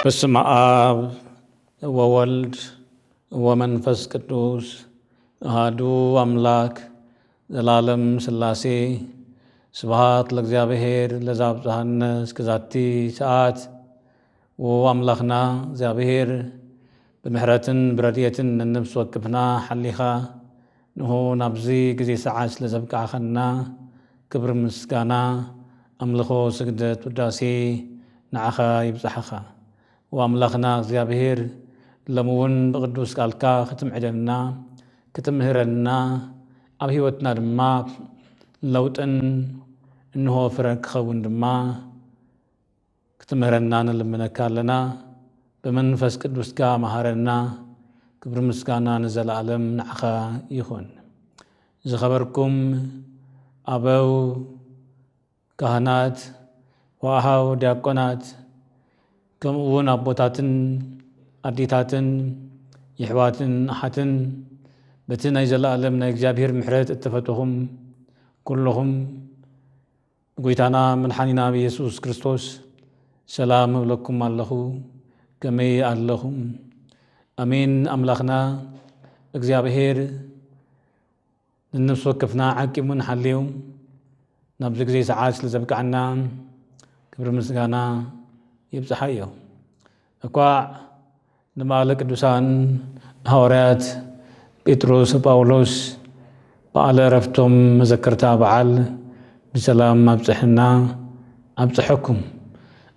በስመ አብ ወወልድ ወመንፈስ ቅዱስ አሐዱ አምላክ ዘላለም ሥላሴ። ስብሐት ለእግዚአብሔር ለዘአብጽሐነ እስከ ዛቲ ሰዓት። ወአምላኽና እግዚኣብሔር ብምሕረትን ብረድኤትን ነነፍሲ ወከፍና ሓሊኻ ንሆ ናብዚ ግዜ ሰዓት ስለ ዘብቃዕኸና ክብሪ ምስጋና ኣምልኾ ስግደት ውዳሴ ንዓኻ ይብጻሕኻ። ወኣምላኽና እግዚኣብሔር ሎሚ እውን ብቕዱስ ቃልካ ክትምዕደና ክትምህረና ኣብ ህይወትና ድማ ለውጥን እንሆ ፍረ ክኸውን ድማ ክትምህረና ንልምነካ ኣለና። ብመንፈስ ቅዱስካ መሃረና። ክብሪ ምስጋና ንዘለኣለም ንዓኻ ይኹን። ዝኸበርኩም ኣበው ካህናት፣ ወኣሃው ዲያቆናት፣ ከምኡ እውን ኣቦታትን ኣዴታትን የሕዋትን ኣሓትን በቲ ናይ ዘለኣለም ናይ እግዚኣብሔር ምሕረት እተፈተኹም ኩልኹም ብጎይታና መድሓኒና ብየሱስ ክርስቶስ ሰላም እብለኩም ኣለኹ። ከመይ ኣለኹም? ኣሜን። ኣምላኽና እግዚኣብሔር ንነፍሲ ወከፍና ዓቂሙን ሓልዩ ናብዚ ግዜ ሰዓት ስለ ዘብቅዓና ክብሪ ምስጋና ይብጽሓዮ። እኳዕ ንበዓለ ቅዱሳን ሃዋርያት ጴጥሮስ ጳውሎስ በዓለ ዕረፍቶም መዘከርታ በዓል ብሰላም ኣብጽሐና ኣብጽሐኩም።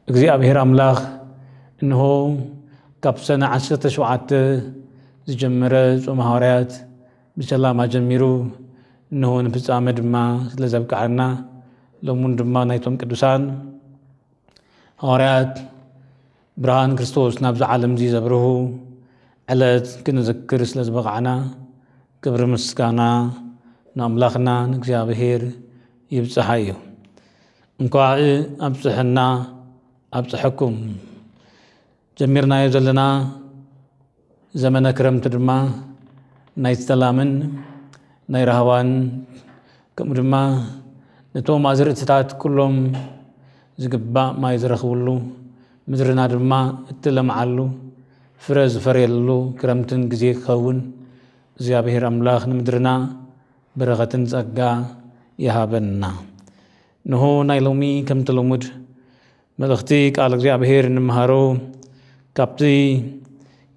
እግዚኣብሔር ኣምላኽ እንሆ ካብ ሰነ ዓሰርተ ሸውዓተ ዝጀመረ ጾም ሃዋርያት ብሰላም ኣጀሚሩ እንሆ ንፍጻመ ድማ ስለ ዘብቅዓና ሎሙን ድማ ናይቶም ቅዱሳን ሃዋርያት ብርሃን ክርስቶስ ናብዚ ዓለም እዚ ዘብርሁ ዕለት ክንዝክር ስለ ዝበቕዓና ክብሪ ምስጋና ንኣምላኽና ንእግዚኣብሔር ይብጽሓዮ። እንኳዕ ኣብጽሐና ኣብጽሐኩም። ጀሚርናዮ ዘለና ዘመነ ክረምቲ ድማ ናይ ሰላምን ናይ ራህዋን ከምኡ ድማ ነቶም ኣዝርእትታት ኩሎም ዝግባእ ማይ ዝረኽብሉ ምድርና ድማ እትለምዓሉ ፍረ ዝፈርየሉ ክረምትን ግዜ ክኸውን እግዚኣብሔር ኣምላኽ ንምድርና በረኸትን ጸጋ ይሃበና። ንሆ ናይ ሎሚ ከምቲ ልሙድ መልእኽቲ ቃል እግዚኣብሔር እንምሃሮ ካብቲ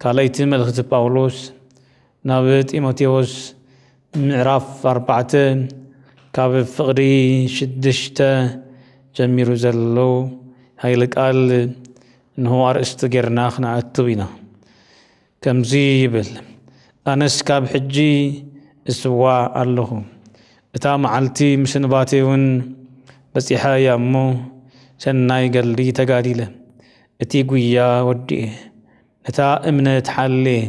ካልኣይቲ መልእኽቲ ጳውሎስ ናብ ጢሞቴዎስ ምዕራፍ ኣርባዕተ ካብ ፍቕዲ ሽዱሽተ ጀሚሩ ዘሎ ሃይለ ቃል እንሆ ኣርእስቲ ጌርና ክንኣትው ኢና። ከምዚ ይብል፣ ኣነስ ካብ ሕጂ እስዋእ ኣለኹ፣ እታ መዓልቲ ምስንባተይ እውን በጺሓ እያ እሞ፣ ሰናይ ገድሊ ተጋዲለ፣ እቲ ጉያ ወዲኤ፣ ነታ እምነት ሓልየ፣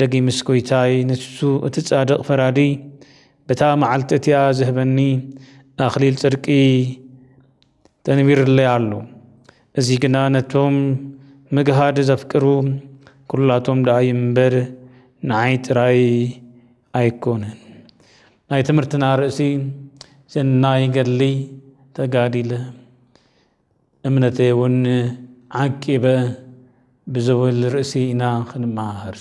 ደጊምስ ጐይታይ ንሱ እቲ ጻድቕ ፈራዲ በታ መዓልቲ እቲኣ ዝህበኒ ኣኽሊል ጽድቂ ተንቢርለይ ኣሎ። እዚ ግና ነቶም ምግሃድ ዘፍቅሩ ኩላቶም ደኣ እዩ እምበር ንዓይ ጥራይ ኣይኮነን። ናይ ትምህርትና ርእሲ ሰናይ ገድሊ ተጋዲለ እምነተይ እውን ዓቂበ ብዝብል ርእሲ ኢና ክንመሃር።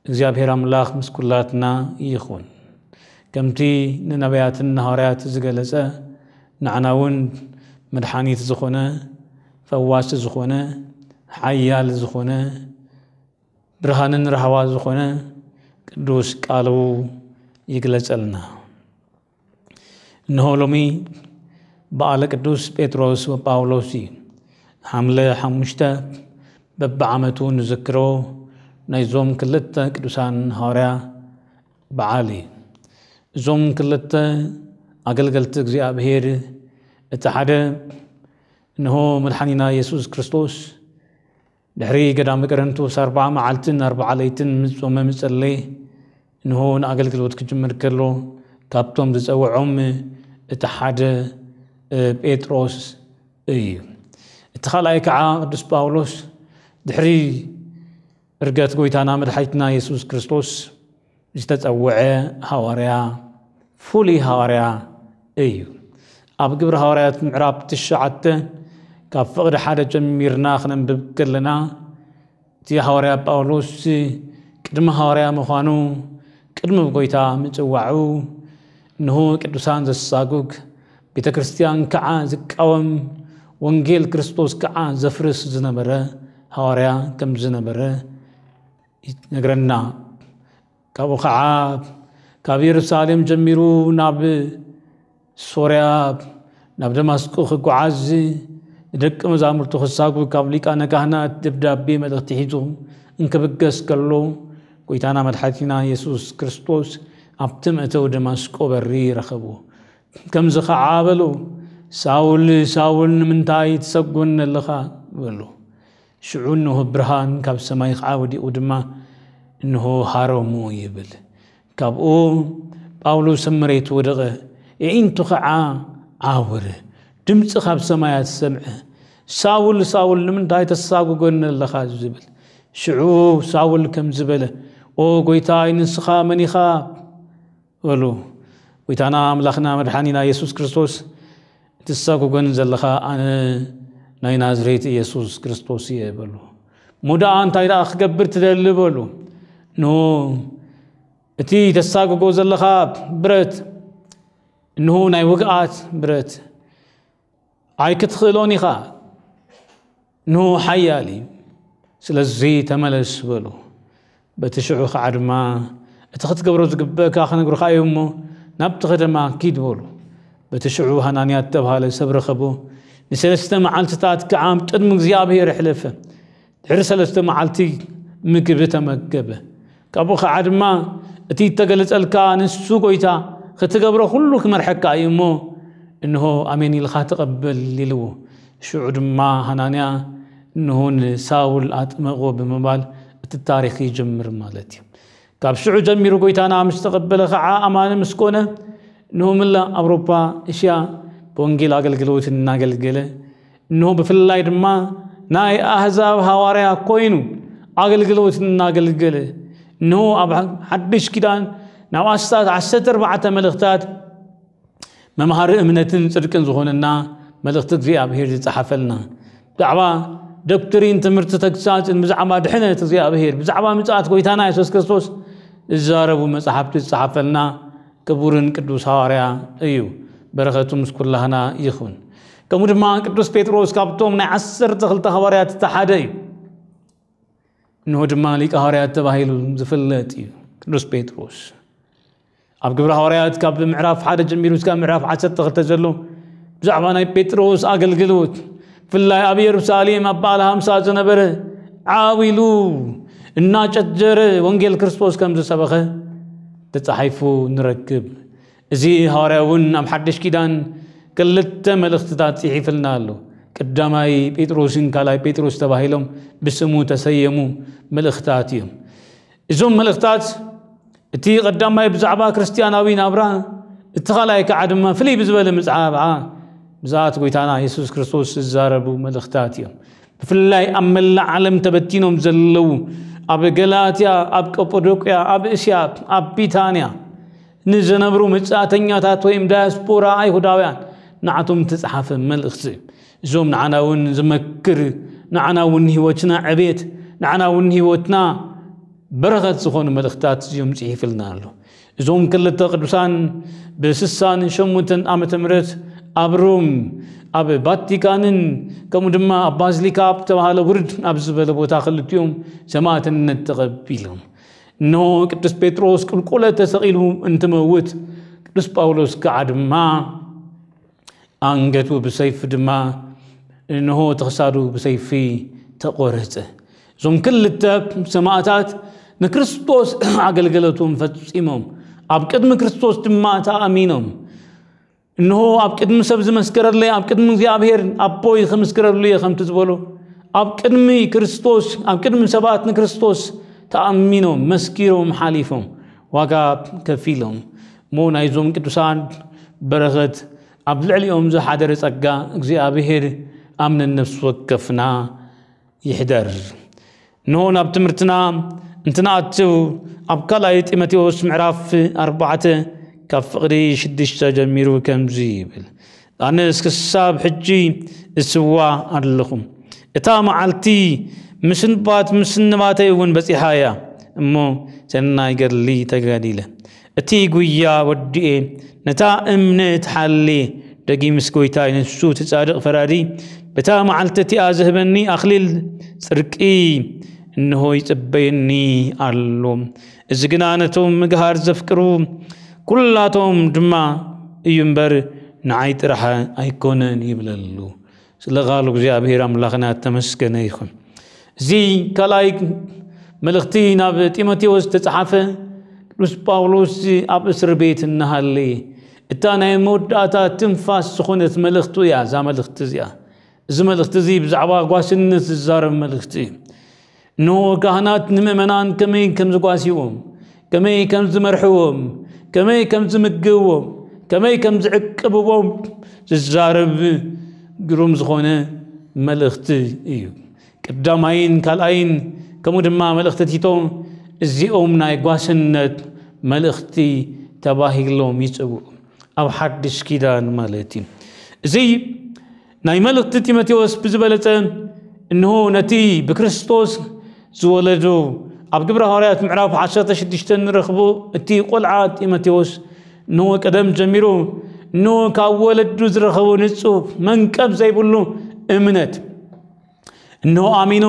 እግዚኣብሔር ኣምላኽ ምስ ኩላትና ይኹን። ከምቲ ንነቢያትን ንሃዋርያት ዝገለጸ ንዓና እውን መድሓኒት ዝኾነ ፈዋሲ ዝኾነ ሓያል ዝኾነ ብርሃንን ራህዋ ዝኾነ ቅዱስ ቃሉ ይግለጸልና። እንሆ ሎሚ በዓለ ቅዱስ ጴጥሮስ ወጳውሎስ እዩ። ሓምለ ሓሙሽተ በብዓመቱ ንዝክሮ ናይዞም ክልተ ቅዱሳን ሃዋርያ በዓል እዩ። እዞም ክልተ ኣገልገልቲ እግዚኣብሔር እቲ ሓደ እንሆ መድሓኒና የሱስ ክርስቶስ ድሕሪ ገዳመ ቀረንቶስ ኣርብዓ መዓልትን ኣርብዓ ለይትን ምስ ጾመ ምስ ጸለየ እንሆ ንኣገልግሎት ክጅምር ከሎ ካብቶም ዝጸውዖም እቲ ሓደ ጴጥሮስ እዩ። እቲ ካልኣይ ከዓ ቅዱስ ጳውሎስ ድሕሪ እርገት ጎይታና መድሓኒትና የሱስ ክርስቶስ ዝተጸውዐ ሃዋርያ ፍሉይ ሃዋርያ እዩ። ኣብ ግብሪ ሃዋርያት ምዕራፍ ትሽዓተ ካብ ፍቕዲ ሓደ ጀሚርና ክነንብብ ከለና እቲ ሃዋርያ ጳውሎስ ቅድሚ ሃዋርያ ምዃኑ፣ ቅድሚ ጎይታ ምጽዋዑ፣ እንሆ ቅዱሳን ዘሳጉግ፣ ቤተ ክርስቲያን ከዓ ዝቃወም፣ ወንጌል ክርስቶስ ከዓ ዘፍርስ ዝነበረ ሃዋርያ ከም ዝነበረ ይነግረና። ካብኡ ከዓ ካብ የሩሳሌም ጀሚሩ ናብ ሶርያ፣ ናብ ደማስቆ ክጓዓዝ፣ ንደቂ መዛሙርቱ ክሳጉ ካብ ሊቃነ ካህናት ደብዳቤ መልእኽቲ ሒዙ እንክብገስ ከሎ፣ ጎይታና መድሓኒትና የሱስ ክርስቶስ ኣብቲ መእተዊ ደማስቆ በሪ ረኸቦ። ከምዚ ከዓ በሎ፣ "ሳውል፣ ሳውል፣ ንምንታይ ትሰጎኒ ኣለኻ?" በሎ። ሽዑ እንሆ ብርሃን ካብ ሰማይ ከዓ ወዲቑ ድማ፣ "እንሆ ሃረሙ" ይብል። ካብኡ ጳውሎስ ኣብ መሬት ወደቐ፣ ኣዒንቱ ከዓ ዓወረ። ድምፂ ካብ ሰማያት ሰምዐ፣ "ሳውል፣ ሳውል፣ ንምንታይ ተሳጉጎኒ ኣለኻ?" ዝብል። ሽዑ ሳውል ከም ዝበለ፣ "ኦ ጎይታይ፣ ንስኻ መን ኢኻ?" በሉ። ጎይታና ኣምላኽና መድሓኒና የሱስ ክርስቶስ፣ "እትሳጉጎኒ ዘለኻ ኣነ ናይ ናዝሬት የሱስ ክርስቶስ እየ" በሉ። "እሞ ደኣ እንታይ ደኣ ክገብር ትደሊ?" በሉ። "ኖ፣ እቲ ተሳጉጎ ዘለኻ ብረት፣ እንሆ ናይ ውግኣት ብረት፣ ኣይክትኽእሎን ኢኻ፣ እንሆ ሓያል እዩ፣ ስለዚ ተመለስ" በሉ። በቲ ሽዑ ኸዓ ድማ፣ "እቲ ክትገብሮ ዝግበእካ ክነግሩኻ እዩ እሞ፣ ናብቲ ከተማ ኪድ" በሉ። በቲ ሽዑ ሃናንያ እተባህለ ሰብ ረኸቦ፣ ንሰለስተ መዓልትታት ከዓ ኣብ ቅድሚ እግዚኣብሔር ኣሕለፈ። ድሕሪ ሰለስተ መዓልቲ ምግቢ ተመገበ። ካብኡ ኸዓ ድማ፣ "እቲ እተገለጸልካ ንሱ ጎይታ፣ ክትገብሮ ኩሉ ክመርሐካ እዩ እሞ፣ እንሆ ኣሜን ኢልኻ ተቐበል" ኢልዎ። ሽዑ ድማ ሃናንያ፣ "እንሆ ንሳውል ኣጥመቖ" ብምባል እቲ ታሪኽ ይጅምር ማለት እዩ። ካብ ሽዑ ጀሚሩ ጎይታና ምስ ተቐበለ ኸዓ፣ ኣማኒ ምስ ኮነ፣ እንሆ መላእ ኣውሮፓ፣ እስያ ብወንጌል ኣገልግሎት እናገልገለ፣ እንሆ ብፍላይ ድማ ናይ ኣህዛብ ሃዋርያ ኮይኑ ኣገልግሎት እናገልገለ፣ እንሆ ኣብ ሓድሽ ኪዳን ናብ ኣስታት ዓሰርተ ኣርባዕተ መልእኽታት መምሃሪ እምነትን ጽድቅን ዝኾነና መልእኽቲ እግዚኣብሔር ዝጸሓፈልና፣ ብዛዕባ ዶክትሪን፣ ትምህርቲ ተግሳጽን፣ ብዛዕባ ድሕነት እግዚኣብሔር፣ ብዛዕባ ምጽኣት ጎይታና የሱስ ክርስቶስ ዝዛረቡ መጻሕፍቲ ዝጸሓፈልና ክቡርን ቅዱስ ሃዋርያ እዩ። በረኸቱ ምስ ኩላህና ይኹን። ከምኡ ድማ ቅዱስ ጴጥሮስ ካብቶም ናይ ዓሰርተ ክልተ ሃዋርያት እቲ ሓደ እዩ። እንሆ ድማ ሊቀ ሃዋርያት ተባሂሉ ዝፍለጥ እዩ። ቅዱስ ጴጥሮስ ኣብ ግብሪ ሃዋርያት ካብ ምዕራፍ ሓደ ጀሚሩ እስካብ ምዕራፍ ዓሰርተ ክልተ ዘሎ ብዛዕባ ናይ ጴጥሮስ ኣገልግሎት፣ ብፍላይ ኣብ የሩሳሌም ኣብ በዓል ሃምሳ ዝነበረ ዓው ኢሉ እናጨጀረ ወንጌል ክርስቶስ ከም ዝሰበኸ ተጻሒፉ ንረክብ። እዚ ሃዋርያ እውን ኣብ ሓድሽ ኪዳን ክልተ መልእኽትታት ጽሒፍልና ኣሎ። ቀዳማይ ጴጥሮስን ካልኣይ ጴጥሮስ ተባሂሎም ብስሙ ተሰየሙ መልእኽታት እዮም። እዞም መልእኽታት፣ እቲ ቀዳማይ ብዛዕባ ክርስትያናዊ ናብራ፣ እቲ ካልኣይ ከዓ ድማ ፍልይ ብዝበለ ብዛዕባ ምጽኣት ጎይታና የሱስ ክርስቶስ ዝዛረቡ መልእኽታት እዮም። ብፍላይ ኣብ መላእ ዓለም ተበቲኖም ዘለዉ፣ ኣብ ገላትያ፣ ኣብ ቀጳዶቅያ፣ ኣብ እስያ፣ ኣብ ቢታንያ ንዝነብሩ መጻእተኛታት ወይም ዳያስፖራ ኣይሁዳውያን ንዓቶም ዝተጻሓፈ መልእኽቲ እዩ። እዞም ንዓና እውን ዝመክር፣ ንዓና እውን ንህይወትና ዕቤት፣ ንዓና እውን ንህይወትና በረኸት ዝኾኑ መልእኽታት እዮም ጽሒፍልና ኣሎ። እዞም ክልተ ቅዱሳን ብስሳን ሸሞንተን ዓመተ ምህረት ኣብ ሮም፣ ኣብ ቫቲካንን ከምኡ ድማ ኣብ ባዚሊካ ኣብ ተባሃለ ውርድ ኣብ ዝበለ ቦታ ክልቲኦም ሰማዕትነት ተቐቢሎም። እነሆ ቅዱስ ጴጥሮስ ቁልቁለት ተሰቒሉ እንትመውት፣ ቅዱስ ጳውሎስ ከዓ ድማ ኣንገቱ ብሰይፊ ድማ፣ እንሆ እቲ ክሳዱ ብሰይፊ ተቖረጸ። እዞም ክልተ ሰማዕታት ንክርስቶስ ኣገልግሎቶም ፈጺሞም፣ ኣብ ቅድሚ ክርስቶስ ድማ ተኣሚኖም። እንሆ ኣብ ቅድሚ ሰብ ዝመስከረለይ፣ ኣብ ቅድሚ እግዚኣብሔር ኣቦይ ክምስክረሉ እየ ከምቲ ዝበሎ፣ ኣብ ቅድሚ ክርስቶስ፣ ኣብ ቅድሚ ሰባት ንክርስቶስ ተኣሚኖም፣ መስኪሮም፣ ሓሊፎም፣ ዋጋ ከፊሎም። እሞ ናይዞም ቅዱሳን በረኸት ኣብ ልዕሊኦም ዝሓደረ ጸጋ እግዚኣብሔር ኣብ ነነፍሲ ወከፍና ይሕደር። እንሆ ናብ ትምህርትና እንትንኣትው፣ ኣብ ካልኣይ ጢሞቴዎስ ምዕራፍ ኣርባዕተ ካብ ፍቕዲ ሽዱሽተ ጀሚሩ ከምዚ ይብል፣ "ኣነስ ክሳብ ሕጂ እስዋ ኣለኹ። እታ መዓልቲ ምስንባት ምስንባተይ እውን በጺሓ እያ እሞ፣ ሰናይ ገድሊ ተጋዲለ፣ እቲ ጉያ ወዲኤ፣ ነታ እምነት ሓልየ፣ ደጊምስ ጎይታይ፣ ንሱ እቲ ጻድቕ ፈራዲ፣ በታ መዓልቲ እቲኣ ዝህበኒ ኣኽሊል ጽድቂ እንሆ ይጽበየኒ ኣሎ። እዚ ግና ነቶም ምግሃር ዘፍቅሩ ኩላቶም ድማ እዩ እምበር፣ ንዓይ ጥራሕ ኣይኮነን ይብለሉ። ስለ ቃሉ እግዚኣብሔር ኣምላኽና ተመስገነ ይኹን። እዚ ካልኣይ መልእኽቲ ናብ ጢሞቴዎስ ዝተጻሓፈ፣ ቅዱስ ጳውሎስ ኣብ እስር ቤት እናሃለየ እታ ናይ መወዳእታ ትንፋስ ዝኾነት መልእኽቱ እያ። እዛ መልእኽቲ እዚኣ፣ እዚ መልእኽቲ እዚ ብዛዕባ ጓስነት ዝዛረብ መልእኽቲ እዩ። እንሆ ካህናት ንምእመናን ከመይ ከም ዝጓስይዎም፣ ከመይ ከም ዝመርሕዎም፣ ከመይ ከም ዝምግብዎም፣ ከመይ ከም ዝዕቅብዎም ዝዛረብ ግሩም ዝኾነ መልእኽቲ እዩ። ቀዳማይን ካልኣይን ከምኡ ድማ መልእኽቲ ቲቶ እዚኦም ናይ ጓስነት መልእኽቲ ተባሂሎም ይጽውዑ። ኣብ ሓድሽ ኪዳን ማለት እዩ። እዚ ናይ መልእኽቲ ጢሞቴዎስ ብዝበለጸ እንሆ ነቲ ብክርስቶስ ዝወለዱ ኣብ ግብረ ሃዋርያት ምዕራፍ ዓሰርተ ሽዱሽተ ንረኽቦ እቲ ቆልዓ ጢሞቴዎስ እንሆ ቀደም ጀሚሩ እንሆ ካብ ወለዱ ዝረኸቦ ንጹህ መንቀብ ዘይብሉ እምነት እንሆ ኣሚኑ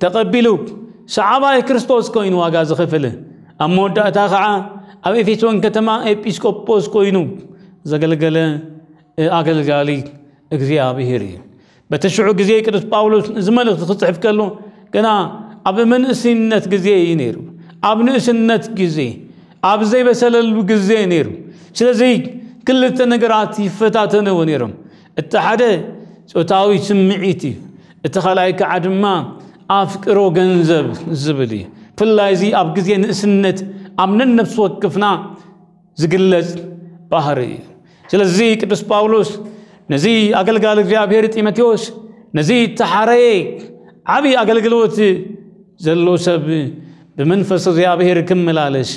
ተቐቢሉ ሰዓባይ ክርስቶስ ኮይኑ ዋጋ ዝኸፍል ኣብ መወዳእታ ኸዓ ኣብ ኤፌሶን ከተማ ኤጲስቆጶስ ኮይኑ ዘገልገለ ኣገልጋሊ እግዚኣብሔር እዩ። በቲ ሽዑ ግዜ ቅዱስ ጳውሎስ እዚ መልእኽቲ ክጽሕፍ ከሎ ገና ኣብ መንእስነት ግዜ እዩ ነይሩ። ኣብ ንእስነት ግዜ፣ ኣብ ዘይበሰለሉ ግዜ ነይሩ። ስለዚ ክልተ ነገራት ይፈታተንዎ ነይሮም። እቲ ሓደ ጾታዊ ስምዒት እዩ። እቲ ካልኣይ ከዓ ድማ ኣፍቅሮ ገንዘብ ዝብል እዩ። ብፍላይ እዚ ኣብ ግዜ ንእስነት ኣብ ነነብሲ ወክፍና ዝግለጽ ባህሪ እዩ። ስለዚ ቅዱስ ጳውሎስ ነዚ ኣገልጋሊ እግዚኣብሔር ጢሞቴዎስ ነዚ ተሓረየ ዓብዪ ኣገልግሎት ዘሎ ሰብ ብመንፈስ እግዚኣብሔር ክመላለስ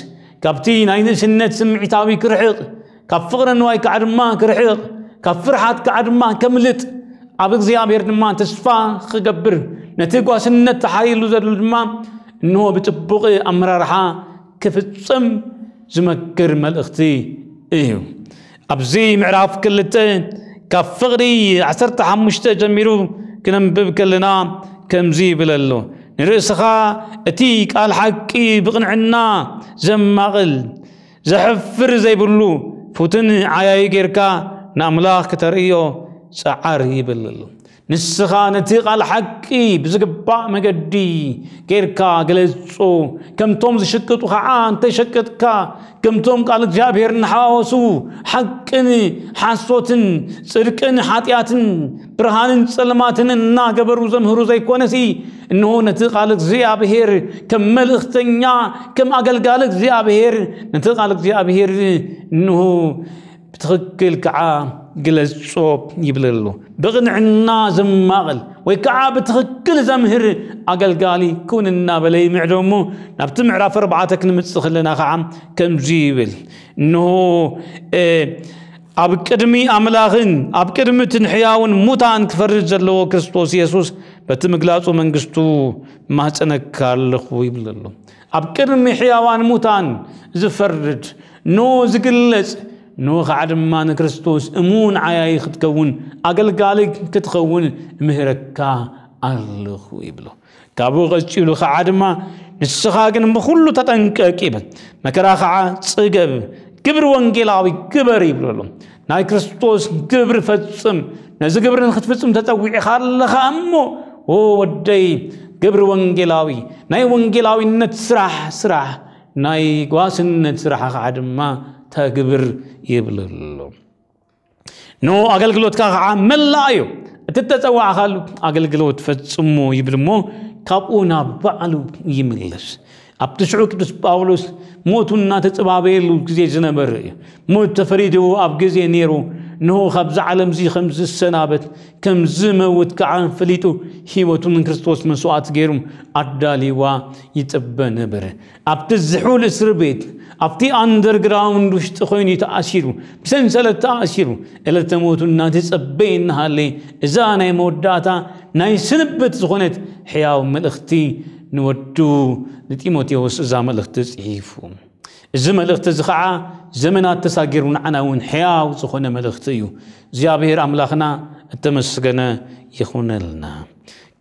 ካብቲ ናይ ንእስነት ስምዒታዊ ክርሕቕ ካብ ፍቕሪ ንዋይ ከዓ ድማ ክርሕቕ ካብ ፍርሓት ከዓ ድማ ከምልጥ ኣብ እግዚኣብሔር ድማ ተስፋ ክገብር ነቲ ጓስነት ተሓሪሉ ዘሎ ድማ እንሆ ብጥቡቕ ኣመራርሓ ክፍጽም ዝመክር መልእኽቲ እዩ። ኣብዚ ምዕራፍ ክልተ ካብ ፍቕዲ ዓሰርተ ሓሙሽተ ጀሚሩ ክነንብብ ከለና ከምዚ ይብል ኣሎ፣ ንርእስኻ እቲ ቃል ሓቂ ብቕንዕና ዘማቕል ዘሕፍር ዘይብሉ ፍቱን ዓያዪ ጌርካ ንኣምላኽ ክተርእዮ ጸዓር ይብል ኣሎ። ንስኻ ነቲ ቃል ሓቂ ብዝግባእ መገዲ ጌርካ ግለጾ። ከምቶም ዝሽቅጡ ኸዓ እንተይሸቅጥካ፣ ከምቶም ቃል እግዚኣብሔር እናሓዋወሱ ሓቅን ሓሶትን ጽድቅን ሓጢኣትን ብርሃንን ጸልማትን እናገበሩ ዘምህሩ ዘይኮነሲ፣ እንሆ ነቲ ቃል እግዚኣብሔር ከም መልእኽተኛ ከም ኣገልጋሊ እግዚኣብሔር ነቲ ቃል እግዚኣብሔር እንሆ ብትኽክል ከዓ ግለጾ ይብል ኣሎ። ብቕንዕና ዘማቕል ወይ ከዓ ብትኽክል ዘምህር ኣገልጋሊ ኩን እናበለ ይምዕዶ እሞ ናብቲ ምዕራፍ ኣርባዕተ ክንምጽእ ከለና ከዓ ከምዚ ይብል፣ እንሆ ኣብ ቅድሚ ኣምላኽን ኣብ ቅድሚ እቲ ንሕያውን ሙታን ክፈርድ ዘለዎ ክርስቶስ የሱስ በቲ ምግላጹ መንግስቱ ማጸነካ ኣለኹ ይብል ኣሎ። ኣብ ቅድሚ ሕያዋን ሙታን ዝፈርድ ኖ ዝግለጽ ኖ ከዓ ድማ ንክርስቶስ እሙን ዓያዪ ክትከውን ኣገልጋሊ ክትኸውን ምህረካ ኣለኹ ይብሎ። ካብኡ ቀጺሉ ከዓ ድማ ንስኻ ግን ብኹሉ ተጠንቀቅ ይብል። መከራ ከዓ ጽገብ፣ ግብሪ ወንጌላዊ ግበር ይብሎ ኣሎ። ናይ ክርስቶስ ግብሪ ፈጽም። ነዚ ግብሪ ንክትፍጽም ተጸዊዕኻ ኣለኻ እሞ ኦ ወደይ ግብሪ ወንጌላዊ ናይ ወንጌላዊነት ስራሕ ስራሕ ናይ ጓስነት ስራሕ ከዓ ድማ ተግብር ይብል ኣሎ። ኖ ኣገልግሎትካ ከዓ መላእ እዩ። እቲ ተጸዋዕካሉ ኣገልግሎት ፈጽሞ ይብል እሞ ካብኡ ናብ ባዕሉ ይምለስ። ኣብቲ ሽዑ ቅዱስ ጳውሎስ ሞቱ እናተጸባበየሉ ግዜ ዝነበረ እዩ። ሞት ተፈሪድዎ ኣብ ግዜ ነይሩ ንሆ ካብዚ ዓለም እዚ ከም ዝሰናበት ከም ዝመውት ከዓ ፈሊጡ ህይወቱ ንክርስቶስ መስዋዕት ገይሩ ኣዳልዋ ይጽበ ነበረ። ኣብቲ ዝሑል እስር ቤት ኣብቲ ኣንደርግራውንድ ውሽጢ ኮይኑ ተኣሲሩ ብሰንሰለት ተኣሲሩ ዕለተ ሞቱ እናተጸበየ እናሃለ እዛ ናይ መወዳእታ ናይ ስንብት ዝኾነት ሕያው መልእኽቲ ንወዱ ንጢሞቴዎስ እዛ መልእኽቲ ጽሒፉ። እዚ መልእኽቲ እዚ ኸዓ ዘመናት ተሳጊሩ ንዓና እውን ሕያው ዝኾነ መልእኽቲ እዩ። እግዚኣብሔር ኣምላኽና እተመስገነ ይኹነልና።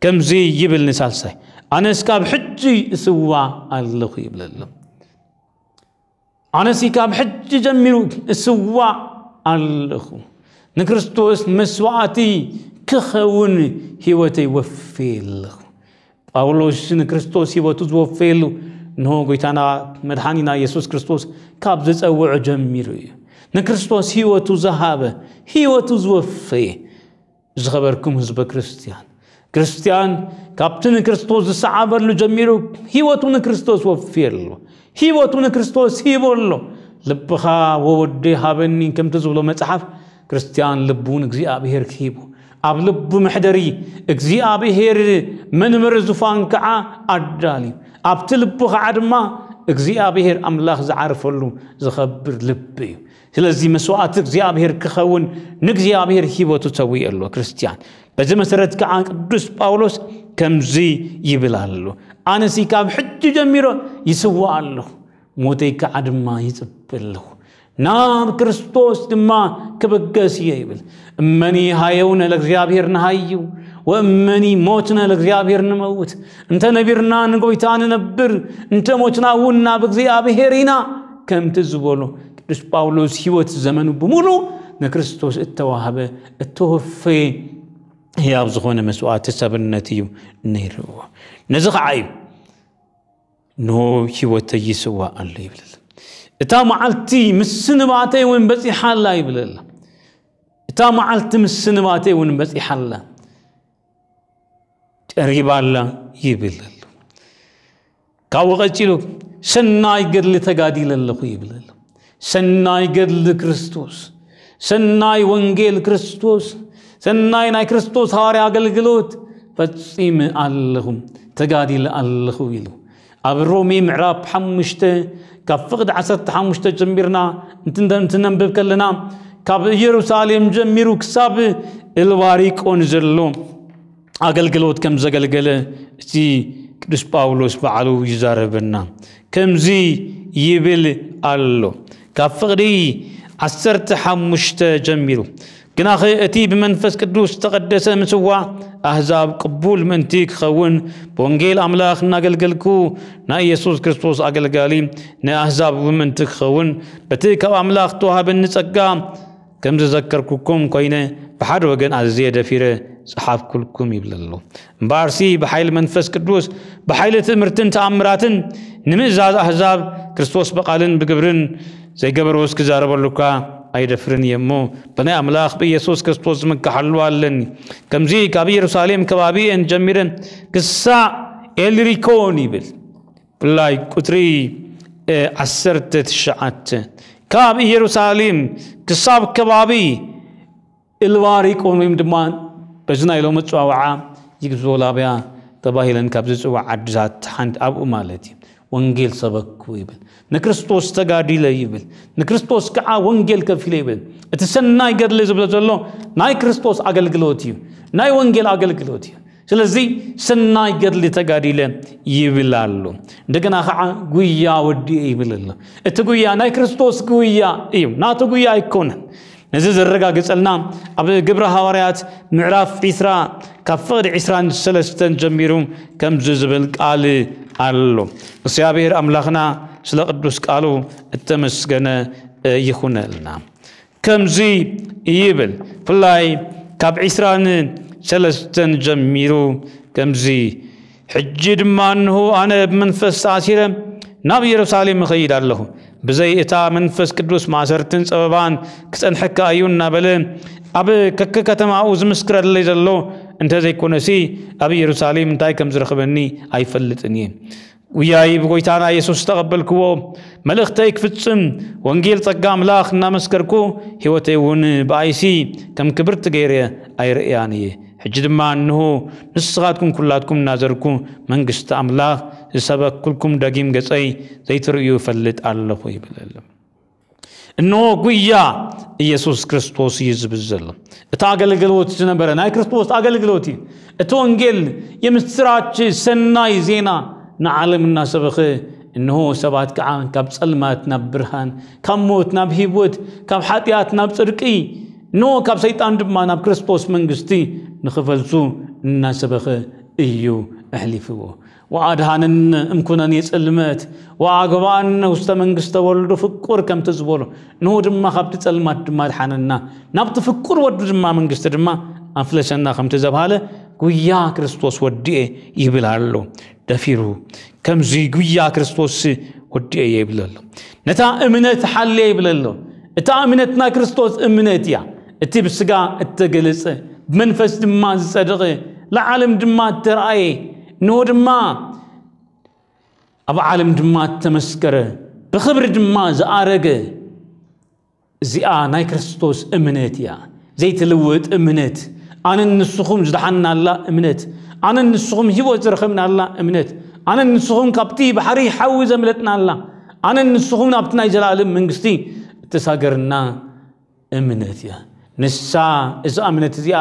ከምዚ ይብል ንሳልሳይ፣ ኣነስ ካብ ሕጂ እስዋእ ኣለኹ ይብለሉ። ኣነሲ ካብ ሕጂ ጀሚሩ እስዋእ ኣለኹ፣ ንክርስቶስ መስዋዕቲ ክኸውን ህይወተይ ወፍየ ኣለኹ። ጳውሎስ ንክርስቶስ ህይወቱ ዝወፈየሉ፣ እንሆ ጎይታና መድሓኒና የሱስ ክርስቶስ ካብ ዝጸውዖ ጀሚሩ እዩ። ንክርስቶስ ህይወቱ ዝሃበ፣ ህይወቱ ዝወፈየ። ዝኸበርኩም ህዝበ ክርስትያን፣ ክርስትያን ካብቲ ንክርስቶስ ዝሰዓበሉ ጀሚሩ ህይወቱ ንክርስቶስ ወፍየሉ፣ ህይወቱ ንክርስቶስ ሂቦ ኣሎ። ልብኻ ወወዲ ሃበኒ ከምቲ ዝብሎ መጽሓፍ፣ ክርስትያን ልቡ ንእግዚኣብሔር ክሂቡ፣ ኣብ ልቡ መሕደሪ እግዚኣብሔር መንበሪ ዙፋን ከዓ ኣዳልዩ፣ ኣብቲ ልቡ ከዓ ድማ እግዚኣብሔር ኣምላኽ ዝዓርፈሉ ዝኸብር ልቢ እዩ። ስለዚ መስዋዕቲ እግዚኣብሔር ክኸውን ንእግዚኣብሔር ህይወቱ ሰዊኡ ኣሎ ክርስትያን። በዚ መሰረት ከዓ ቅዱስ ጳውሎስ ከምዚ ይብል ኣሎ፣ ኣነሲ ካብ ሕጂ ጀሚሮ ይስዋእ ኣለኹ፣ ሞተይ ከዓ ድማ ይጽበ ኣለኹ፣ ናብ ክርስቶስ ድማ ክብገስ እየ ይብል። እመኒ ሃየውነ ለእግዚኣብሔር ንሃዩ ወእመኒ ሞትነ ለእግዚኣብሔር ንመውት። እንተ ነቢርና ንጎይታ ንነብር፣ እንተ ሞትና እውን ናብ እግዚኣብሔር ኢና። ከምቲ ዝበሎ ቅዱስ ጳውሎስ ህይወት ዘመኑ ብምሉእ ንክርስቶስ እተዋህበ፣ እተወፈየ ህያብ ዝኾነ መስዋዕቲ ሰብነት እዩ ነይርዎ። ነዚ ከዓ እዩ ኖ ህይወተይ ይስዋእ ኣሎ ይብለል። እታ መዓልቲ ምስንባተይ እውን በጺሓ ኣላ ይብለል። እታ መዓልቲ ምስንባተይ እውን በጺሓ ኣላ፣ ቀሪባ ኣላ ይብለል። ካብኡ ቀጺሉ ሰናይ ገድሊ ተጋዲለ ኣለኹ ይብለል። ሰናይ ገድሊ ክርስቶስ፣ ሰናይ ወንጌል ክርስቶስ፣ ሰናይ ናይ ክርስቶስ ሃዋርያ ኣገልግሎት ፈጺመ ኣለኹ፣ ተጋዲለ ኣለኹ ኢሉ ኣብ ሮሜ ምዕራፍ ሓሙሽተ ካብ ፍቕዲ ዓሰርተ ሓሙሽተ ጀሚርና እንትንደ-፣ እንትነንብብ ከለና ካብ ኢየሩሳሌም ጀሚሩ ክሳብ እልባሪቆን ዘሎ ኣገልግሎት ከም ዘገልገለ እቲ ቅዱስ ጳውሎስ ባዕሉ ይዛረበና። ከምዚ ይብል ኣሎ፣ ካብ ፍቕዲ ዓሰርተ ሓሙሽተ ጀሚሩ፣ ግናኸ እቲ ብመንፈስ ቅዱስ ዝተቐደሰ ምጽዋዕ ኣህዛብ ቅቡል ምእንቲ ክኸውን ብወንጌል ኣምላኽ እናገልገልኩ ናይ ኢየሱስ ክርስቶስ ኣገልጋሊ ንኣህዛብ እውን ምእንቲ ክኸውን በቲ ካብ ኣምላኽ ተዋሃበኒ ጸጋ ከም ዝዘከርኩኩም ኮይነ ብሓደ ወገን ኣዝየ ደፊረ ጸሓፍኩልኩም ይብል ኣሎ። እምበኣርሲ ብሓይሊ መንፈስ ቅዱስ ብሓይሊ ትእምርትን ተኣምራትን ንምእዛዝ ኣህዛብ ክርስቶስ ብቓልን ብግብርን ዘይገበርዎስ ክዛረበሉካ ኣይደፍርን እየ እሞ ብናይ ኣምላኽ ብኢየሱስ ክርስቶስ ዝምከሓሉ ኣለኒ። ከምዚ ካብ ኢየሩሳሌም ከባቢ እየን ጀሚረን ክሳዕ ኤልሪኮን ይብል። ብፍላይ ቁጽሪ፣ እ፣ ዓሰርተ ትሽዓተ፣ ካብ ኢየሩሳሌም ክሳብ ከባቢ እልባሪቆን ወይም ድማ በዚ ናይ ሎሚ ኣጸዋውዓ ዩጎዝላቭያ ተባሂለን ካብ ዝጽዋዕ ዓድታት ሓንቲ ኣብኡ ማለት እዩ። ወንጌል ሰበኩ ይብል፣ ንክርስቶስ ተጋዲለ ይብል፣ ንክርስቶስ ከዓ ወንጌል ከፊለ ይብል። እቲ ሰናይ ገድሊ ዝብሎ ዘሎ ናይ ክርስቶስ ኣገልግሎት እዩ፣ ናይ ወንጌል ኣገልግሎት እዩ። ስለዚ ሰናይ ገድሊ ተጋዲለ ይብል ኣሎ። እንደገና ከዓ ጉያ ወዲኤ ይብል ኣሎ። እቲ ጉያ ናይ ክርስቶስ ጉያ እዩ፣ ናቱ ጉያ ኣይኮነን። ነዚ ዘረጋግጸልና ኣብ ግብረ ሃዋርያት ምዕራፍ ዒስራ ካብ ፍቕዲ ዒስራን ሰለስተን ጀሚሩ ከምዚ ዝብል ቃል ኣሎ። እግዚኣብሔር ኣምላኽና ስለ ቅዱስ ቃሉ እተመስገነ ይኹነልና። ከምዚ ይብል፣ ብፍላይ ካብ ዒስራን ሰለስተን ጀሚሩ ከምዚ፣ ሕጂ ድማ እንሆ ኣነ ብመንፈስ ተኣሲረ ናብ ኢየሩሳሌም እኸይድ ኣለኹ፣ ብዘይ እታ መንፈስ ቅዱስ ማእሰርትን ጸበባን ክጸንሐካ እዩ እናበለ ኣብ ከከከተማኡ ዝምስክረለይ ዘሎ እንተዘይኮነሲ ኣብ ኢየሩሳሌም እንታይ ከም ዝረኽበኒ ኣይፈልጥን እየ። ውያይ ብጎይታና የሱስ ዝተቐበልክዎ መልእኽተይ ክፍጽም ወንጌል ጸጋ ኣምላኽ እናመስከርኩ ሕይወተይ እውን ብኣይሲ ከም ክብርቲ ገይረ ኣይርእያን እየ። ሕጂ ድማ እንሆ ንስኻትኩም ኩላትኩም እናዘርኩ መንግስቲ ኣምላኽ ዝሰበክኩልኩም ደጊም ገጸይ ዘይትርእዩ እፈልጥ ኣለኹ ይብል ኣሎ። እንሆ ጉያ ኢየሱስ ክርስቶስ እዩ ዝብል ዘሎ። እቲ ኣገልግሎት ዝነበረ ናይ ክርስቶስ ኣገልግሎት እዩ። እቲ ወንጌል፣ የምስራች፣ ሰናይ ዜና ንዓለም እናሰበኸ፣ እንሆ ሰባት ከዓ ካብ ጸልማት ናብ ብርሃን፣ ካብ ሞት ናብ ህይወት፣ ካብ ሓጢኣት ናብ ጽድቂ፣ እንሆ ካብ ሰይጣን ድማ ናብ ክርስቶስ መንግስቲ ንኽፈልሱ እናሰበኸ እዩ ኣሕሊፍዎ። ወኣድሃነነ እምኩነኔ ጽልመት ወኣግብኣነ ውስተ መንግስተ ወልዱ ፍቁር ከምቲ ዝበሎ፣ ንሁ ድማ ካብቲ ጸልማት ድማ ኣድሓነና፣ ናብቲ ፍቁር ወዱ ድማ መንግስቲ ድማ ኣፍለሰና ከምቲ ዘብሃለ፣ ጉያ ክርስቶስ ወዲኤ ይብል ኣሎ። ደፊሩ ከምዚ ጉያ ክርስቶስ ወዲኤ ይብል ኣሎ። ነታ እምነት ሓልየ ይብል ኣሎ። እታ እምነት ናይ ክርስቶስ እምነት እያ። እቲ ብስጋ እተገለጸ፣ ብመንፈስ ድማ ዝጸደቐ፣ ለዓለም ድማ እተረኣየ፣ እንሆ ድማ ኣብ ዓለም ድማ እተመስከረ፣ ብኽብሪ ድማ ዝኣረገ፣ እዚኣ ናይ ክርስቶስ እምነት እያ። ዘይትልውጥ እምነት። ኣነን ንስኹም ዝደሓንናላ እምነት። ኣነን ንስኹም ህይወት ዝረኸብናላ እምነት። ኣነን ንስኹም ካብቲ ባሕሪ ሓዊ ዘምለጥናላ። ኣነን ንስኹም ናብቲ ናይ ዘላለም መንግስቲ እተሳገርና እምነት እያ። ንሳ፣ እዛ እምነት እዚኣ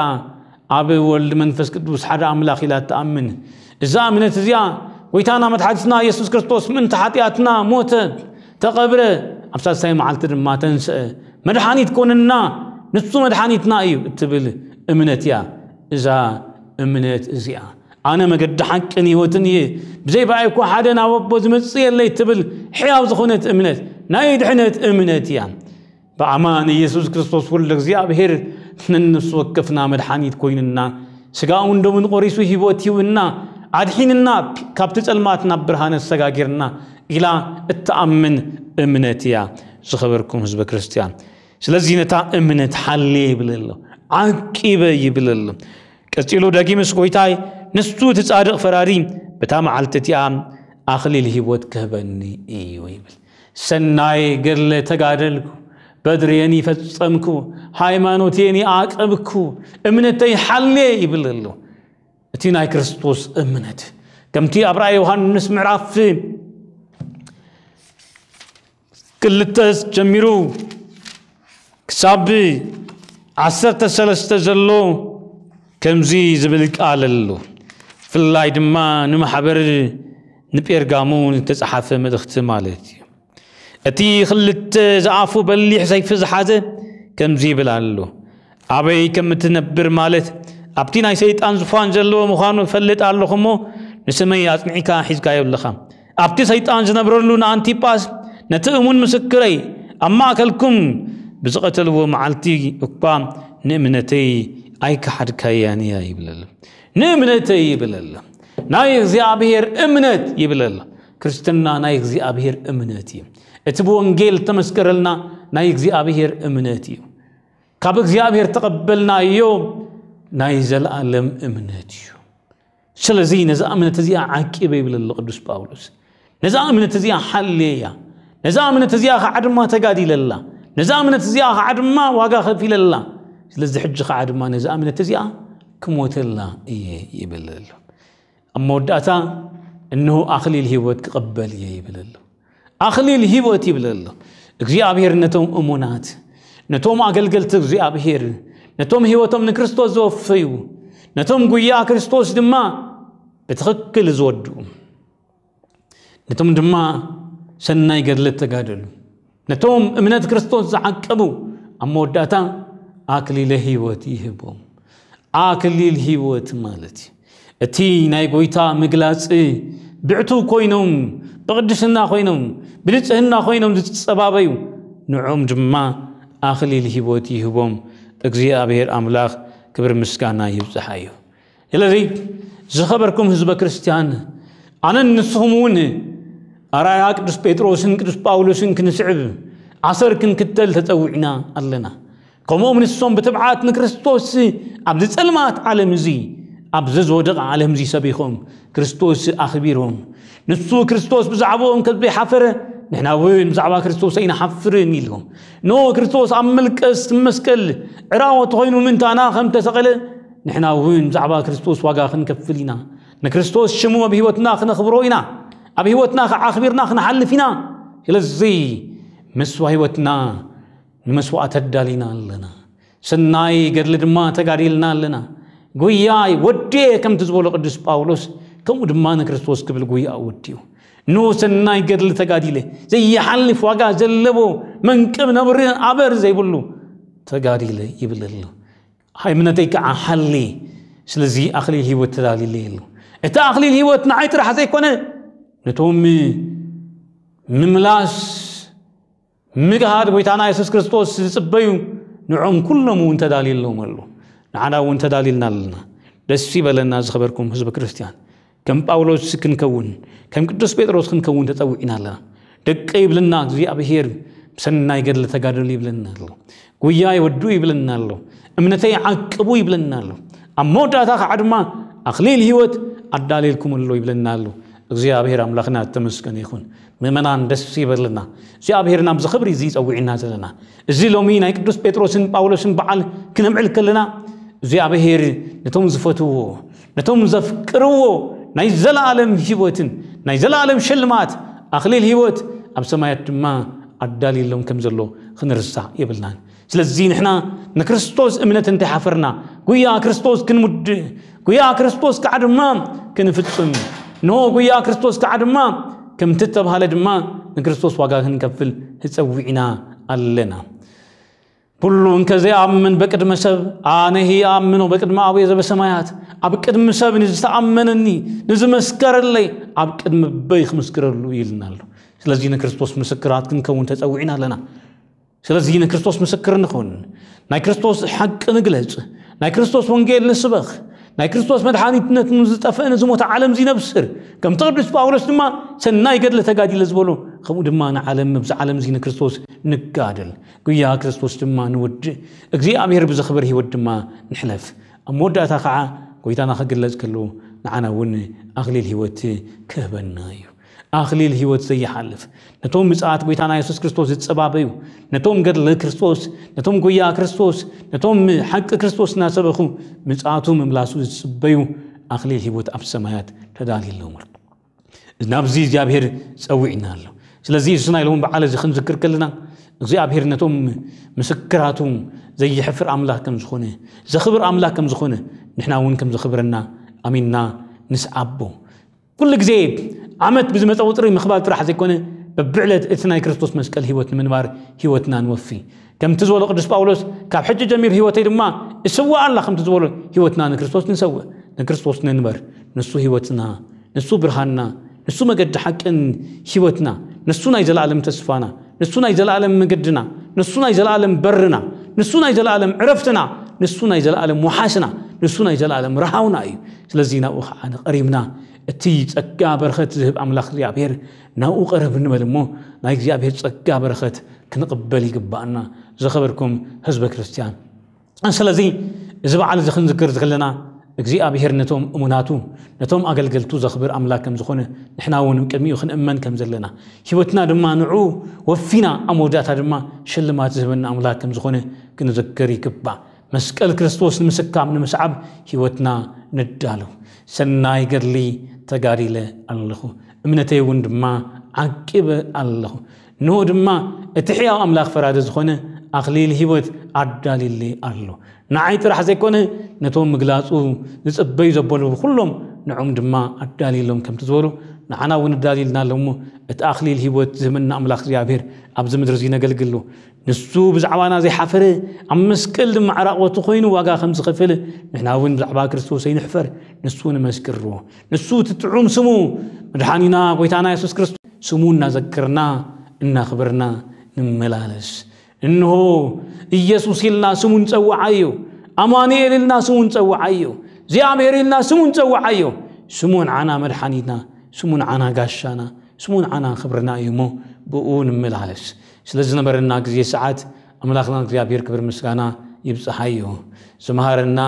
ኣብ ወልድ መንፈስ ቅዱስ ሓደ ኣምላኽ ኢላ ትኣምን። እዛ እምነት እዚኣ፣ ጎይታና መድሓኒትና የሱስ ክርስቶስ ምእንቲ ሓጢኣትና ሞተ፣ ተቐብረ፣ ኣብ ሳልሳይ መዓልቲ ድማ ተንስአ፣ መድሓኒት ኮንና፣ ንሱ መድሓኒትና እዩ እትብል እምነት እያ። እዛ እምነት እዚኣ፣ ኣነ መገዲ ሓቅን ህይወትን እየ፣ ብዘይ ብኣይ እኳ ሓደ ናብ ኣቦ ዝመጽእ የለይ እትብል ሕያው ዝኾነት እምነት፣ ናይ ድሕነት እምነት እያ። ብኣማን ኢየሱስ ክርስቶስ ወልደ እግዚኣብሔር ነንሱ ወከፍና መድሓኒት ኮይንና፣ ስጋኡን ደሙን ቆሪሱ ህይወት ሂብና፣ ኣድሒንና፣ ካብቲ ጸልማት ናብ ብርሃን ኣሰጋጊርና ኢላ እትኣምን እምነት እያ። ዝኸበርኩም ህዝበ ክርስቲያን፣ ስለዚ ነታ እምነት ሓልየ ይብል ኣሎ፣ ዓቂበ ይብል ኣሎ። ቀጺሉ ደጊምስ ጎይታይ፣ ንሱ እቲ ጻድቕ ፈራዲ በታ መዓልቲ እቲኣ ኣኽሊል ህይወት ክህበኒ እዩ ይብል። ሰናይ ገድለ ተጋደልኩ፣ በድርየን ይፈጸምኩ፣ ሃይማኖቴን ይዓቀብኩ፣ እምነተይ ሓልየ ይብል ኣሎ። እቲ ናይ ክርስቶስ እምነት ከምቲ ኣብ ራእይ ዮሃንስ ምዕራፍ ክልተ ጀሚሩ ክሳብ ዓሰርተ ሰለስተ ዘሎ ከምዚ ዝብል ቃል ኣሎ። ብፍላይ ድማ ንማሕበር ንጴርጋሙ ዝተጻሓፈ መልእኽቲ ማለት እዩ። እቲ ክልተ ዝኣፉ በሊሕ ሰይፊ ዝሓዘ ከምዚ ይብል ኣሎ። ኣበይ ከም እትነብር ማለት ኣብቲ ናይ ሰይጣን ዙፋን ዘለዎ ምዃኑ እፈልጥ ኣለኹ እሞ፣ ንስመይ ኣጽኒዕካ ሒዝካዮ ኣለኻ። ኣብቲ ሰይጣን ዝነብረሉ ንኣንቲጳስ፣ ነቲ እሙን ምስክረይ፣ ኣብ ማእከልኩም ብዝቐተልዎ መዓልቲ እኳ ንእምነተይ ኣይከሓድካያን እያ ይብል ኣሎ። ንእምነተይ ይብል ኣሎ። ናይ እግዚኣብሔር እምነት ይብል ኣሎ። ክርስትና ናይ እግዚኣብሔር እምነት እዩ። እቲ ብወንጌል ተመስከረልና ናይ እግዚኣብሔር እምነት እዩ። ካብ እግዚኣብሔር ተቐበልናዮ ናይ ዘለኣለም እምነት እዩ። ስለዚ ነዛ እምነት እዚኣ ዓቂበ ይብል ኣሎ ቅዱስ ጳውሎስ። ነዛ እምነት እዚኣ ሓልየያ። ነዛ እምነት እዚኣ ኸዓ ድማ ተጋዲለላ። ነዛ እምነት እዚኣ ኸዓ ድማ ዋጋ ከፊለላ። ስለዚ ሕጂ ኸዓ ድማ ነዛ እምነት እዚኣ ክሞተላ እየ ይብል ኣሎ። ኣብ መወዳእታ እንሆ ኣኽሊል ህይወት ክቕበል እየ ይብል ኣሎ። ኣኽሊል ህይወት ይብል ኣሎ። እግዚኣብሔር ነቶም እሙናት፣ ነቶም ኣገልገልቲ እግዚኣብሔር፣ ነቶም ህይወቶም ንክርስቶስ ዘወፈዩ፣ ነቶም ጉያ ክርስቶስ ድማ ብትኽክል ዝወድኡ፣ ነቶም ድማ ሰናይ ገድለት ተጋደሉ፣ ነቶም እምነት ክርስቶስ ዝዓቀቡ ኣብ መወዳእታ ኣክሊለ ህይወት ይህቦም። ኣክሊል ህይወት ማለት እዩ። እቲ ናይ ጎይታ ምግላጽ ብዕቱብ ኮይኖም፣ ብቕድስና ኮይኖም፣ ብንጽህና ኮይኖም ዝጸባበዩ፣ ንዕኦም ድማ ኣክሊል ህይወት ይህቦም። እግዚኣብሔር ኣምላኽ ክብሪ ምስጋና ይብጽሓዮ። ስለዚ ዝኸበርኩም ህዝበ ክርስቲያን፣ ኣነን ንስኹም እውን ኣርኣያ ቅዱስ ጴጥሮስን ቅዱስ ጳውሎስን ክንስዕብ፣ ኣሰር ክንክተል ተጸዊዕና ኣለና። ከምኦም ንሶም ብትብዓት ንክርስቶስ ኣብዚ ጸልማት ዓለም እዚ፣ ኣብዚ ዝወደቐ ዓለም እዚ ሰቢኾም፣ ክርስቶስ ኣኽቢሮም፣ ንሱ ክርስቶስ ብዛዕባኦም ከም ዘይሓፈረ፣ ንሕና እውን ብዛዕባ ክርስቶስ ኣይንሓፍርን ኢሎም። ኖ ክርስቶስ ኣብ መልቀስ መስቀል ዕራወት ኮይኑ ምእንታና ከም ተሰቐለ፣ ንሕና እውን ብዛዕባ ክርስቶስ ዋጋ ክንከፍል ኢና። ንክርስቶስ ሽሙ ኣብ ህይወትና ክነኽብሮ ኢና። ኣብ ህይወትና ከዓኽቢርና ክንሓልፍ ኢና። ስለዚ መስዋ ህይወትና ንመስዋእቲ ኣዳሊና ኣለና። ሰናይ ገድሊ ድማ ተጋዲልና ኣለና። ጉያይ ወድየ ከምቲ ዝበሎ ቅዱስ ጳውሎስ፣ ከምኡ ድማ ንክርስቶስ ክብል ጉያ ወድዩ። ኖ ሰናይ ገድሊ ተጋዲለ፣ ዘይሓልፍ ዋጋ ዘለዎ መንቅብ ነብሪ ኣበር ዘይብሉ ተጋዲለ ይብል ኣሎ። እምነተይ ከዓ ሓሊ፣ ስለዚ ኣኽሊል ህይወት ተዳሊለ ኣሎ። እቲ ኣኽሊል ህይወት ንዓይ ጥራሕ ዘይኮነ፣ ነቶም ምምላስ ምግሃድ ጎይታና የሱስ ክርስቶስ ዝጽበዩ ንዖም ኩሎም እውን ተዳልየሎም ኣሎ። ንዓና እውን ተዳልልና ኣለና። ደስ ይበለና ዝኸበርኩም ህዝቢ ክርስትያን። ከም ጳውሎስ ክንከውን፣ ከም ቅዱስ ጴጥሮስ ክንከውን ተጸዊዕና ኣለና። ደቀ ይብልና እግዚኣብሔር፣ ብሰናይ ገድሊ ተጋደሉ ይብለና ኣሎ። ጉያ ይወዱ ይብለና ኣሎ። እምነተይ ዓቅቡ ይብለና ኣሎ። ኣብ መወዳእታ ከዓ ድማ ኣኽሊል ህይወት ኣዳልየልኩም ኣሎ ይብለና ኣሎ። እግዚኣብሔር ኣምላኽና ተመስገን ይኹን። ምእመናን ደስ ይበልና። እግዚኣብሔር ናብዚ ክብሪ እዚ ይጸውዕና ዘለና። እዚ ሎሚ ናይ ቅዱስ ጴጥሮስን ጳውሎስን በዓል ክነምዕል ከለና እግዚኣብሔር ነቶም ዝፈትዎ፣ ነቶም ዘፍቅርዎ ናይ ዘለኣለም ህይወትን ናይ ዘለኣለም ሽልማት ኣኽሊል ህይወት ኣብ ሰማያት ድማ ኣዳልየሎም ከም ዘሎ ክንርሳዕ የብልናን። ስለዚ ንሕና ንክርስቶስ እምነት እንተይሓፈርና፣ ጉያ ክርስቶስ ክንምድእ፣ ጉያ ክርስቶስ ከዓ ድማ ክንፍጽም፣ ንሆ ጉያ ክርስቶስ ከዓ ድማ ከምቲ እተባህለ ድማ ንክርስቶስ ዋጋ ክንከፍል ተጸዊዕና ኣለና። ኩሉ እንከ ዘይኣምን በቅድመ ሰብ ኣነሂ ኣምኖ በቅድመ ኣቡየ ዘበሰማያት፣ ኣብ ቅድሚ ሰብ ንዝተኣመነኒ ንዝመስከረለይ ኣብ ቅድሚ በይ ክምስክረሉ ኢልና ኣሎ። ስለዚ ንክርስቶስ ምስክራት ክንከውን ተጸዊዕና ኣለና። ስለዚ ንክርስቶስ ምስክር ንኹን፣ ናይ ክርስቶስ ሓቂ ንግለጽ፣ ናይ ክርስቶስ ወንጌል ንስበኽ፣ ናይ ክርስቶስ መድሓኒትነት ንዝጠፍአ ንዝሞተ ዓለም እዚ ነብስር፣ ከምቲ ቅዱስ ጳውሎስ ድማ ሰናይ ገድለ ተጋዲለ ዝበሎ፣ ከምኡ ድማ ንዓለም ኣብዚ ዓለም እዚ ንክርስቶስ ንጋደል። ጉያ ክርስቶስ ድማ ንውድእ፣ እግዚኣብሔር ብዘኽብር ህይወት ድማ ንሕለፍ። ኣብ መወዳእታ ከዓ ጎይታና ክግለጽ ከሎ ንዓና እውን ኣኽሊል ህይወት ክህበና እዩ። ኣኽሊል ህይወት ዘይሓልፍ፣ ነቶም ምጽኣት ጎይታና የሱስ ክርስቶስ ዝጸባበዩ፣ ነቶም ገድሊ ክርስቶስ፣ ነቶም ጎያ ክርስቶስ፣ ነቶም ሓቂ ክርስቶስ እናሰበኹ ምጽኣቱ ምምላሱ ዝጽበዩ ኣኽሊል ህይወት ኣብ ሰማያት ተዳልየሎም። ናብዚ እግዚኣብሔር ጸዊዕና ኣሎ። ስለዚ እዚ ናይ ሎሚ በዓል እዚ ክንዝክር ከለና እግዚኣብሔር ነቶም ምስክራቱ ዘይሕፍር ኣምላኽ ከም ዝኾነ፣ ዘኽብር ኣምላኽ ከም ዝኾነ፣ ንሕና እውን ከም ዘኽብረና ኣሚንና ንስዓቦ። ኩሉ ግዜ ዓመት ብዝመጸ ቁጽሪ ምኽባር ጥራሕ ዘይኮነ፣ በብዕለት እቲ ናይ ክርስቶስ መስቀል ህይወት ንምንባር ህይወትና ንወፊ። ከምቲ ዝበሎ ቅዱስ ጳውሎስ፣ ካብ ሕጂ ጀሚሩ ህይወተይ ድማ እስዋእ ኣላ ከምቲ ዝበሎ ህይወትና ንክርስቶስ ንሰውእ፣ ንክርስቶስ ንንበር። ንሱ ህይወትና፣ ንሱ ብርሃንና፣ ንሱ መገዲ ሓቅን ህይወትና፣ ንሱ ናይ ዘለኣለም ተስፋና፣ ንሱ ናይ ዘለኣለም መገድና፣ ንሱ ናይ ዘለኣለም በርና፣ ንሱ ናይ ዘለኣለም ዕረፍትና፣ ንሱ ናይ ዘለኣለም ወሓስና፣ ንሱ ናይ ዘለኣለም ረሃውና እዩ። ስለዚ ናብኡ ከዓ ንቐሪብና እቲ ጸጋ በረኸት ዝህብ ኣምላኽ እግዚኣብሔር ናብኡ ቀረብ ንበል እሞ ናይ እግዚኣብሔር ጸጋ በረኸት ክንቕበል ይግባኣና። ዝኸበርኩም ህዝበ ክርስትያን፣ ስለዚ እዚ በዓል እዚ ክንዝክር ዝኽለና እግዚኣብሔር ነቶም እሙናቱ ነቶም ኣገልገልቱ ዘኽብር ኣምላክ ከም ዝኾነ ንሕና እውን ቅድሚኡ ክንእመን ከም ዘለና ህይወትና ድማ ንዑ ወፊና ኣብ መወዳእታ ድማ ሽልማት ዝህበና ኣምላክ ከም ዝኾነ ክንዝክር ይግባእ። መስቀል ክርስቶስ ንምስካም ንምስዓብ ህይወትና ንዳሎ። ሰናይ ገድሊ ተጋዲለ ኣለኹ፣ እምነተይ እውን ድማ ዓቂበ ኣለኹ። እንሆ ድማ እቲ ሕያው ኣምላኽ ፈራዲ ዝኾነ ኣኽሊል ህይወት ኣዳልዩለይ ኣሎ። ንዓይ ጥራሕ ዘይኮነ ነቶም ምግላጹ ዝጽበዩ ዘበሉ ኩሎም ንዖም ድማ ኣዳልዩሎም ከምቲ ዝበሉ ንዓና እውን ኣዳልዩልና ኣሎ እሞ እቲ ኣኽሊል ህይወት ዝህበና ኣምላኽ እግዚኣብሔር ኣብዚ ምድሪ እዚ ነገልግሎ። ንሱ ብዛዕባና ዘይሓፈረ ኣብ መስቀል ድማ ዕራቕበቱ ኮይኑ ዋጋ ከም ዝኸፈለ ንሕና እውን ብዛዕባ ክርስቶስ ኣይንሕፈር። ንሱ ንመስክርዎ። ንሱ እቲ ጥዑም ስሙ መድሓኒና ጎይታና የሱስ ክርስቶስ ስሙ እናዘከርና እናኽበርና ንመላለስ። እንሆ ኢየሱስ ኢልና ስሙ ንጸውዓዮ፣ ኣማኑኤል ኢልና ስሙ ንጸውዓዮ፣ እግዚኣብሔር ኢልና ስሙ ንጸውዓዮ። ስሙ ንዓና መድሓኒትና፣ ስሙ ንዓና ጋሻና፣ ስሙ ንዓና ክብርና እዩ እሞ ብኡ ንመላለስ። ስለ ዝነበረና ግዜ ሰዓት ኣምላኽና እግዚኣብሔር ክብር ምስጋና ይብጽሓዮ። ዝመሃረና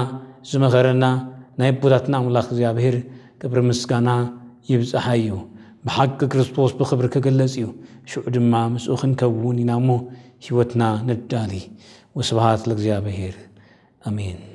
ዝመኸረና ናይ ኣቦታትና ኣምላኽ እግዚኣብሔር ክብር ምስጋና ይብጽሓዮ። ብሓቂ ክርስቶስ ብኽብሪ ክግለጽ እዩ። ሽዑ ድማ ምስኡ ክንከውን ኢና እሞ ህይወትና ነዳሊ። ወስብሃት ለእግዚኣብሔር። ኣሜን።